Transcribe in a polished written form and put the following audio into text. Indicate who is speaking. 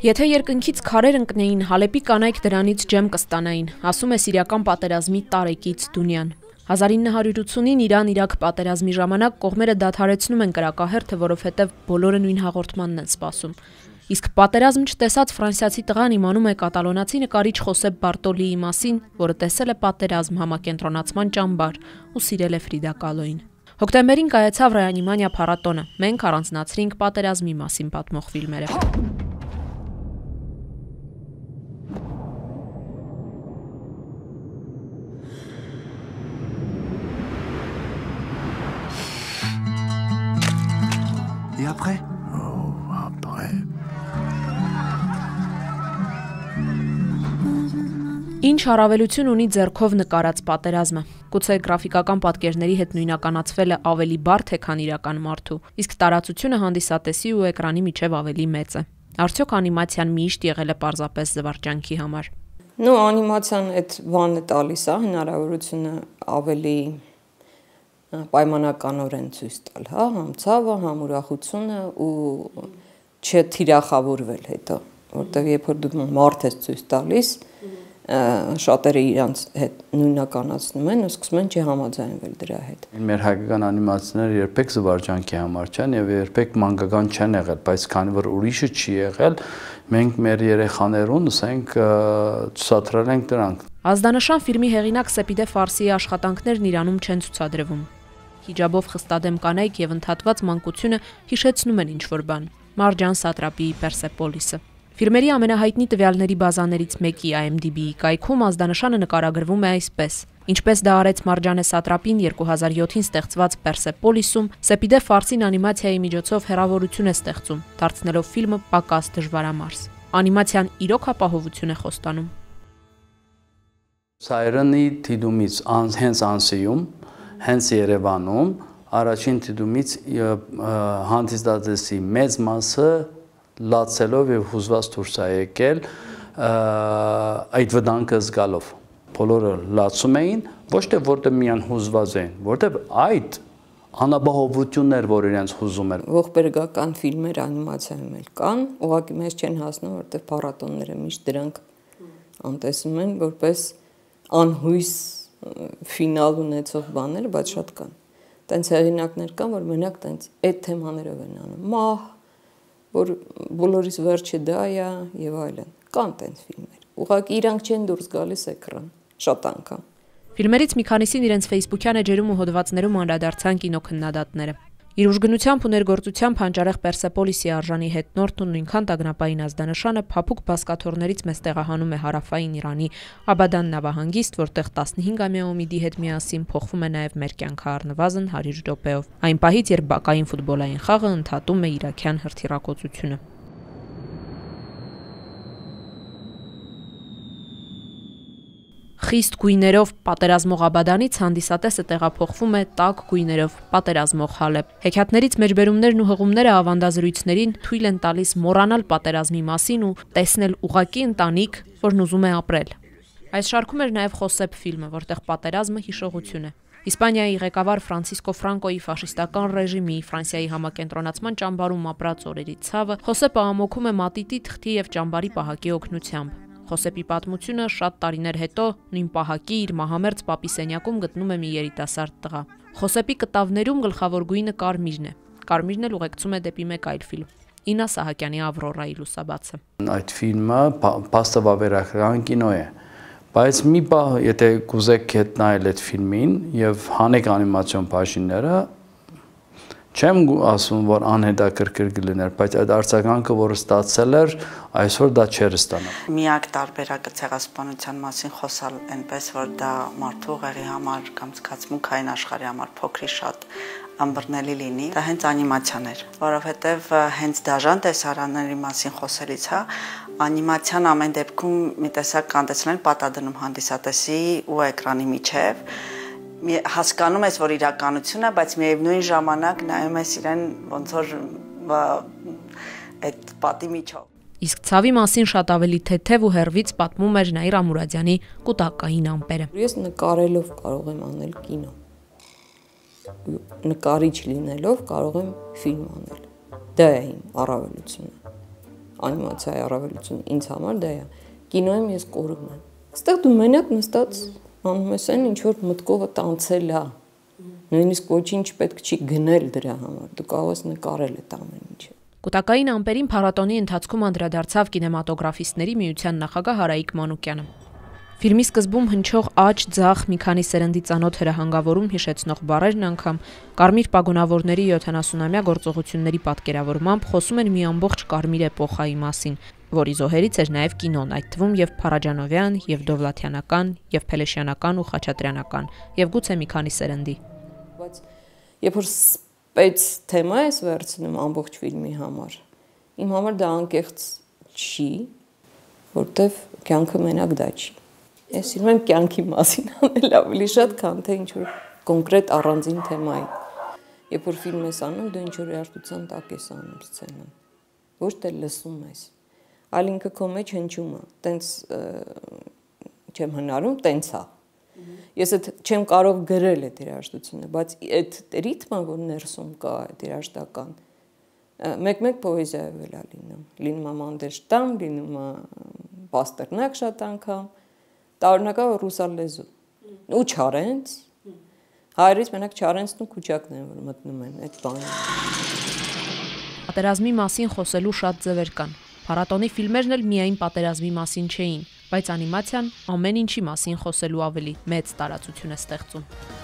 Speaker 1: Եթե երկնքից քարեր ընկնեին, Հալեպի կանայք դրանից ջեմ կստանային, ասում է սիրիական պատերազմի տարեկից Դունյան։ 1980-ին Իրան-Իրաք պատերազմի ժամանակ կողմերը դադարեցնում են կրակահերթը, որովհետև բոլորը նույն հաղորդմանն են սպասում։ Իսկ պատերազմ չտեսած ֆրանսիացի տղան իմանում է կատալոնացի նկարիչ Խոսեփ Բարտոլիի մասին, որը տեսել է պատերազմ համակենտրոնացման ճամբար ու սիրել է Ֆրիդա Կալոին։ Հոկտեմբերին կայացավ Ռեանիմանիա փառատոնը։ Մենք առանձնացրինք պատերազմի մասին պատմող ֆիլմերը։
Speaker 2: Et après?
Speaker 3: Oh, après.
Speaker 1: Ինչ առավելություն ունի ձեռքով նկարած պատերազմը։ Գուցե գրաֆիկական պատկերների հետ նույնականացվել է ավելի բարդ է, քան իրական մարդու, իսկ տարածությունը հանդիսատեսի ու էկրանի միջև ավելի մեծ է։ Արդյոք անիմացիան միշտ եղել է պարզապես զվարճանքի համար։
Speaker 4: Անիմացիան այդ բանը տալիս է հնարավորությունը ավելի պայմանականորեն ցույց տալ, համ ցավը, համ ուրախությունը ու չթիրախավորվել հետո, որտեղ երբ որ դու մարդ ես ցույց տալիս, շատերը իրանց հետ նույնականացնում են ու սկսում են չհամաձայնվել դրա հետ։
Speaker 3: Մեր հայկական անիմացիաները երբեք զվարճանքի համար չեն եւ երբեք մանկական չեն եղել, բայց քանի որ ուրիշը չի եղել, մենք մեր երեխաներուն, ասենք, ցուցադրել ենք դրանք։
Speaker 1: Ազդանշան ֆիլմի հեղինակ Սեպիդե Ֆարսիի աշխատանքներն Իրանում չեն ցուցադրվում։ Հիջաբով խստադեմ կանայք եւ ընդհատված մանկությունը հիշեցնում են ինչ-որ բան։ Մարջան Սատրապիի Պերսեպոլիսը։ Ֆիլմերի ամենահայտնի տվյալների բազաներից մեկի IMDb-ի կայքում ազդանշանը նկարագրվում է այսպես. Ինչպես դա արեց Մարջանե Սատրապին 2007-ին ստեղծված Պերսեպոլիսում, Սեպիդե Ֆարսին անիմացիայի միջոցով հեռավորություն է ստեղծում, դարձնելով ֆիլմը պակաս դժվարամարս։ Անիմացիան իրոք ապահովություն է խոստանում։
Speaker 3: Սայրենի դիտումից հենց Անսիում, հենց Երևանում, առաջին դիտումից հանդիսատեսի մեծ մասը լացելով եւ հուզված դուրս է եկել այդ վտանգը զգալով։ Բոլորը լացում էին, ոչ թե որտեղ միան հուզված էին, որտեղ այդ անապահովություններ, որ իրենց հուզում էր։
Speaker 4: Ողբերգական ֆիլմեր անիմացիայում էլ կան, ուղղակի մեզ չեն հասնում, որտեղ փառատոնները միշտ դրանք անտեսում են որպես անհույս ֆինալ ունեցող բաներ, բայց շատ կան։ Տենց հեղինակներ կան, որ մենակ տենց այդ թեմաներով են անում։ Մահ, որ բոլորից վերջը դա է եւ այլն։ Կան տենց ֆիլմեր։ Ուղղակի իրանք չեն դուրս գալիս էկրան, շատ անգամ։
Speaker 1: Ֆիլմերից մի քանիսին իրենց Facebook-յան էջերում ու հոդվածներում անդրադարձան կինոքննադատները։ Իր ուժգնությամբ ու ներգործությամբ հանճարեղ Պերսեպոլիսի արժանի հետնորդն ու նույնքան տագնապային ազդանշանը փափուկ բասկաթոռներից մեզ տեղահանում է հարավային Իրանի Աբադան նավահանգիստ, որտեղ 15-ամյա Օմիդի հետ միասին փոխվում է նաև մեր կյանքը առնվազն 100 րոպեով։ Այն պահից, երբ բակային ֆուտբոլային խաղը ընդհատում է իրաքյան հրթիռակոծությունը։ Խիստ գույներով պատերազմող Աբադանից հանդիսատեսը տեղափոխվում է տաք գույներով պատերազմող Հալեբ։ Հեքիաթներից մեջբերումներն ու հղումները ավանդազրույցներին թույլ են տալիս մոռանալ պատերազմի մասին ու տեսնել ուղղակի ընտանիք, որն ուզում է ապրել։ Այս շարքում էր նաև Խոսեփ ֆիլմը, որտեղ պատերազմը հիշողություն է։ Իսպանիայի ղեկավար Ֆրանցիսկո Ֆրանկոյի ֆաշիստական ռեժիմի Ֆրանսիայի համակենտրոնացման ճամբարում ապրած օրերի ցավը Խոսեփը ամոքում է մատիտի թղթի եւ ճամբարի պահակի օգնությամբ։ Խոսեփի պատմությունը շատ տարիներ հետո նույն պահակի իր մահամերձ պապի սենյակում գտնում է մի երիտասարդ տղա։ Խոսեփի կտավներում գլխավոր գույնը կարմիրն է։ Կարմիրն էլ ուղեկցում է դեպի մեկ այլ ֆիլմ՝ Ինա Սահակյանի Ավրորայի լուսաբացը։
Speaker 3: Այդ ֆիլմը փաստավավերական կինո է, բայց մի պահ, եթե կուզեք հետ նայել այդ ֆիլմին եւ հանեք անիմացիոն բաժինները, չեմ ասում, որ անհետաքրքիր կլիներ, բայց այդ արձագանքը, որը ստացել էր, այսօր դա չէր ստանա։
Speaker 5: Միակ տարբերակը ցեղասպանության մասին խոսալ այնպես, որ դա մարդու ուղեղի համար կամ զգացմունքային աշխարհի համար փոքրի շատ անբռնելի լինի, դա հենց անիմացիան էր, որովհետև հենց դաժան տեսարանների մասին խոսելից, անիմացիան ամեն դեպքում մի տեսակ կանտեսնել պատադնում հանդիսատեսի ու էկրանի միջև, հասկանում ես, որ իրականություն է, բայց միևնույն ժամանակ նայում ես իրեն ոնց որ այդ պատի միջով։
Speaker 1: Իսկ ցավի մասին շատ ավելի թեթև ու հերվից պատմում էր Նաիր Ամուրադյանի կուտակային ամպերը։
Speaker 4: Ես նկարելով կարող եմ անել կինո։ Նկարիչ լինելով կարող եմ ֆիլմ անել։ Դա է իմ առավելությունը։ անիմացիայի առավելություն ինձ համար դա է։ Կինոյում ես կորում եմ։ Այստեղ դու մենակ նստած անում ես այն, ինչ որ մտքովը տանցել է։ Նույնիսկ ոչինչ պետք չի գնել դրա համար։ Դու կարող ես նկարել այդ ամեն ինչը։
Speaker 1: Կուտակային ամպերին փառատոնի ընթացքում անդրադարձավ կինեմատոգրաֆիստների միության նախագահ Հարայիկ Մանուկյանը։ Ֆիլմի սկզբում հնչող աջ, ձախ, մի քանի սերնդի ծանոթ հրահանգավորում հիշեցնող բառերն անգամ կարմիր պագոնավորների 70-ամյա գործողությունների պատկերավորմամբ խոսում են մի ամբողջ կարմիր էպոխայի մասին, որի զոհերից էր նաև կինոն, այդ թվում եւ Փարաջանովյան, եւ Դովլաթյանական, եւ Փելեշյանական ու Խաչատրյանական, եւ գուցե մի քանի սերնդի։
Speaker 4: Բայց երբ որ սպեց թեմա ես վերցնում ամբողջ ֆիլմի համար, իմ համար դա անկեղծ չի, որտեվ կյանքը մենակ դա չի։ Ես սիրում եմ կյանքի մասին անել ավելի շատ, քան թե ինչ-որ կոնկրետ առանձին թեմայի։ Երբ որ ֆիլմ ես անում, դու ինչ-որ երաժշտության տակ ես անում սցենան, ոչ թե լսում ես, այլ ինքը քո մեջ հնչում է, տենց չեմ հնարում, տենց է։ Ես այդ չեմ կարող գրել այդ երաժշտությունը, բայց այդ ռիթմը, որ ներսում կա, այդ երաժշտական, մեկ-մեկ պոեզիայով էլ է լինում։ Լինում է Մանդելշտամ, լինում է Պաստերնակ շատ անգամ, տարօրինակա ռուսալ լեզու ու Չարենց, հայերից մենակ Չարենցն ու Քուչակն են, որ մտնում են այդ բանը։
Speaker 1: Պատերազմի մասին խոսելու շատ ձևեր կան։ Փառատոնի ֆիլմերն էլ միայն պատերազմի մասին չէին, բայց անիմացիան ամեն ինչի մասին խոսելու ավելի մեծ տարածություն է ստեղծում։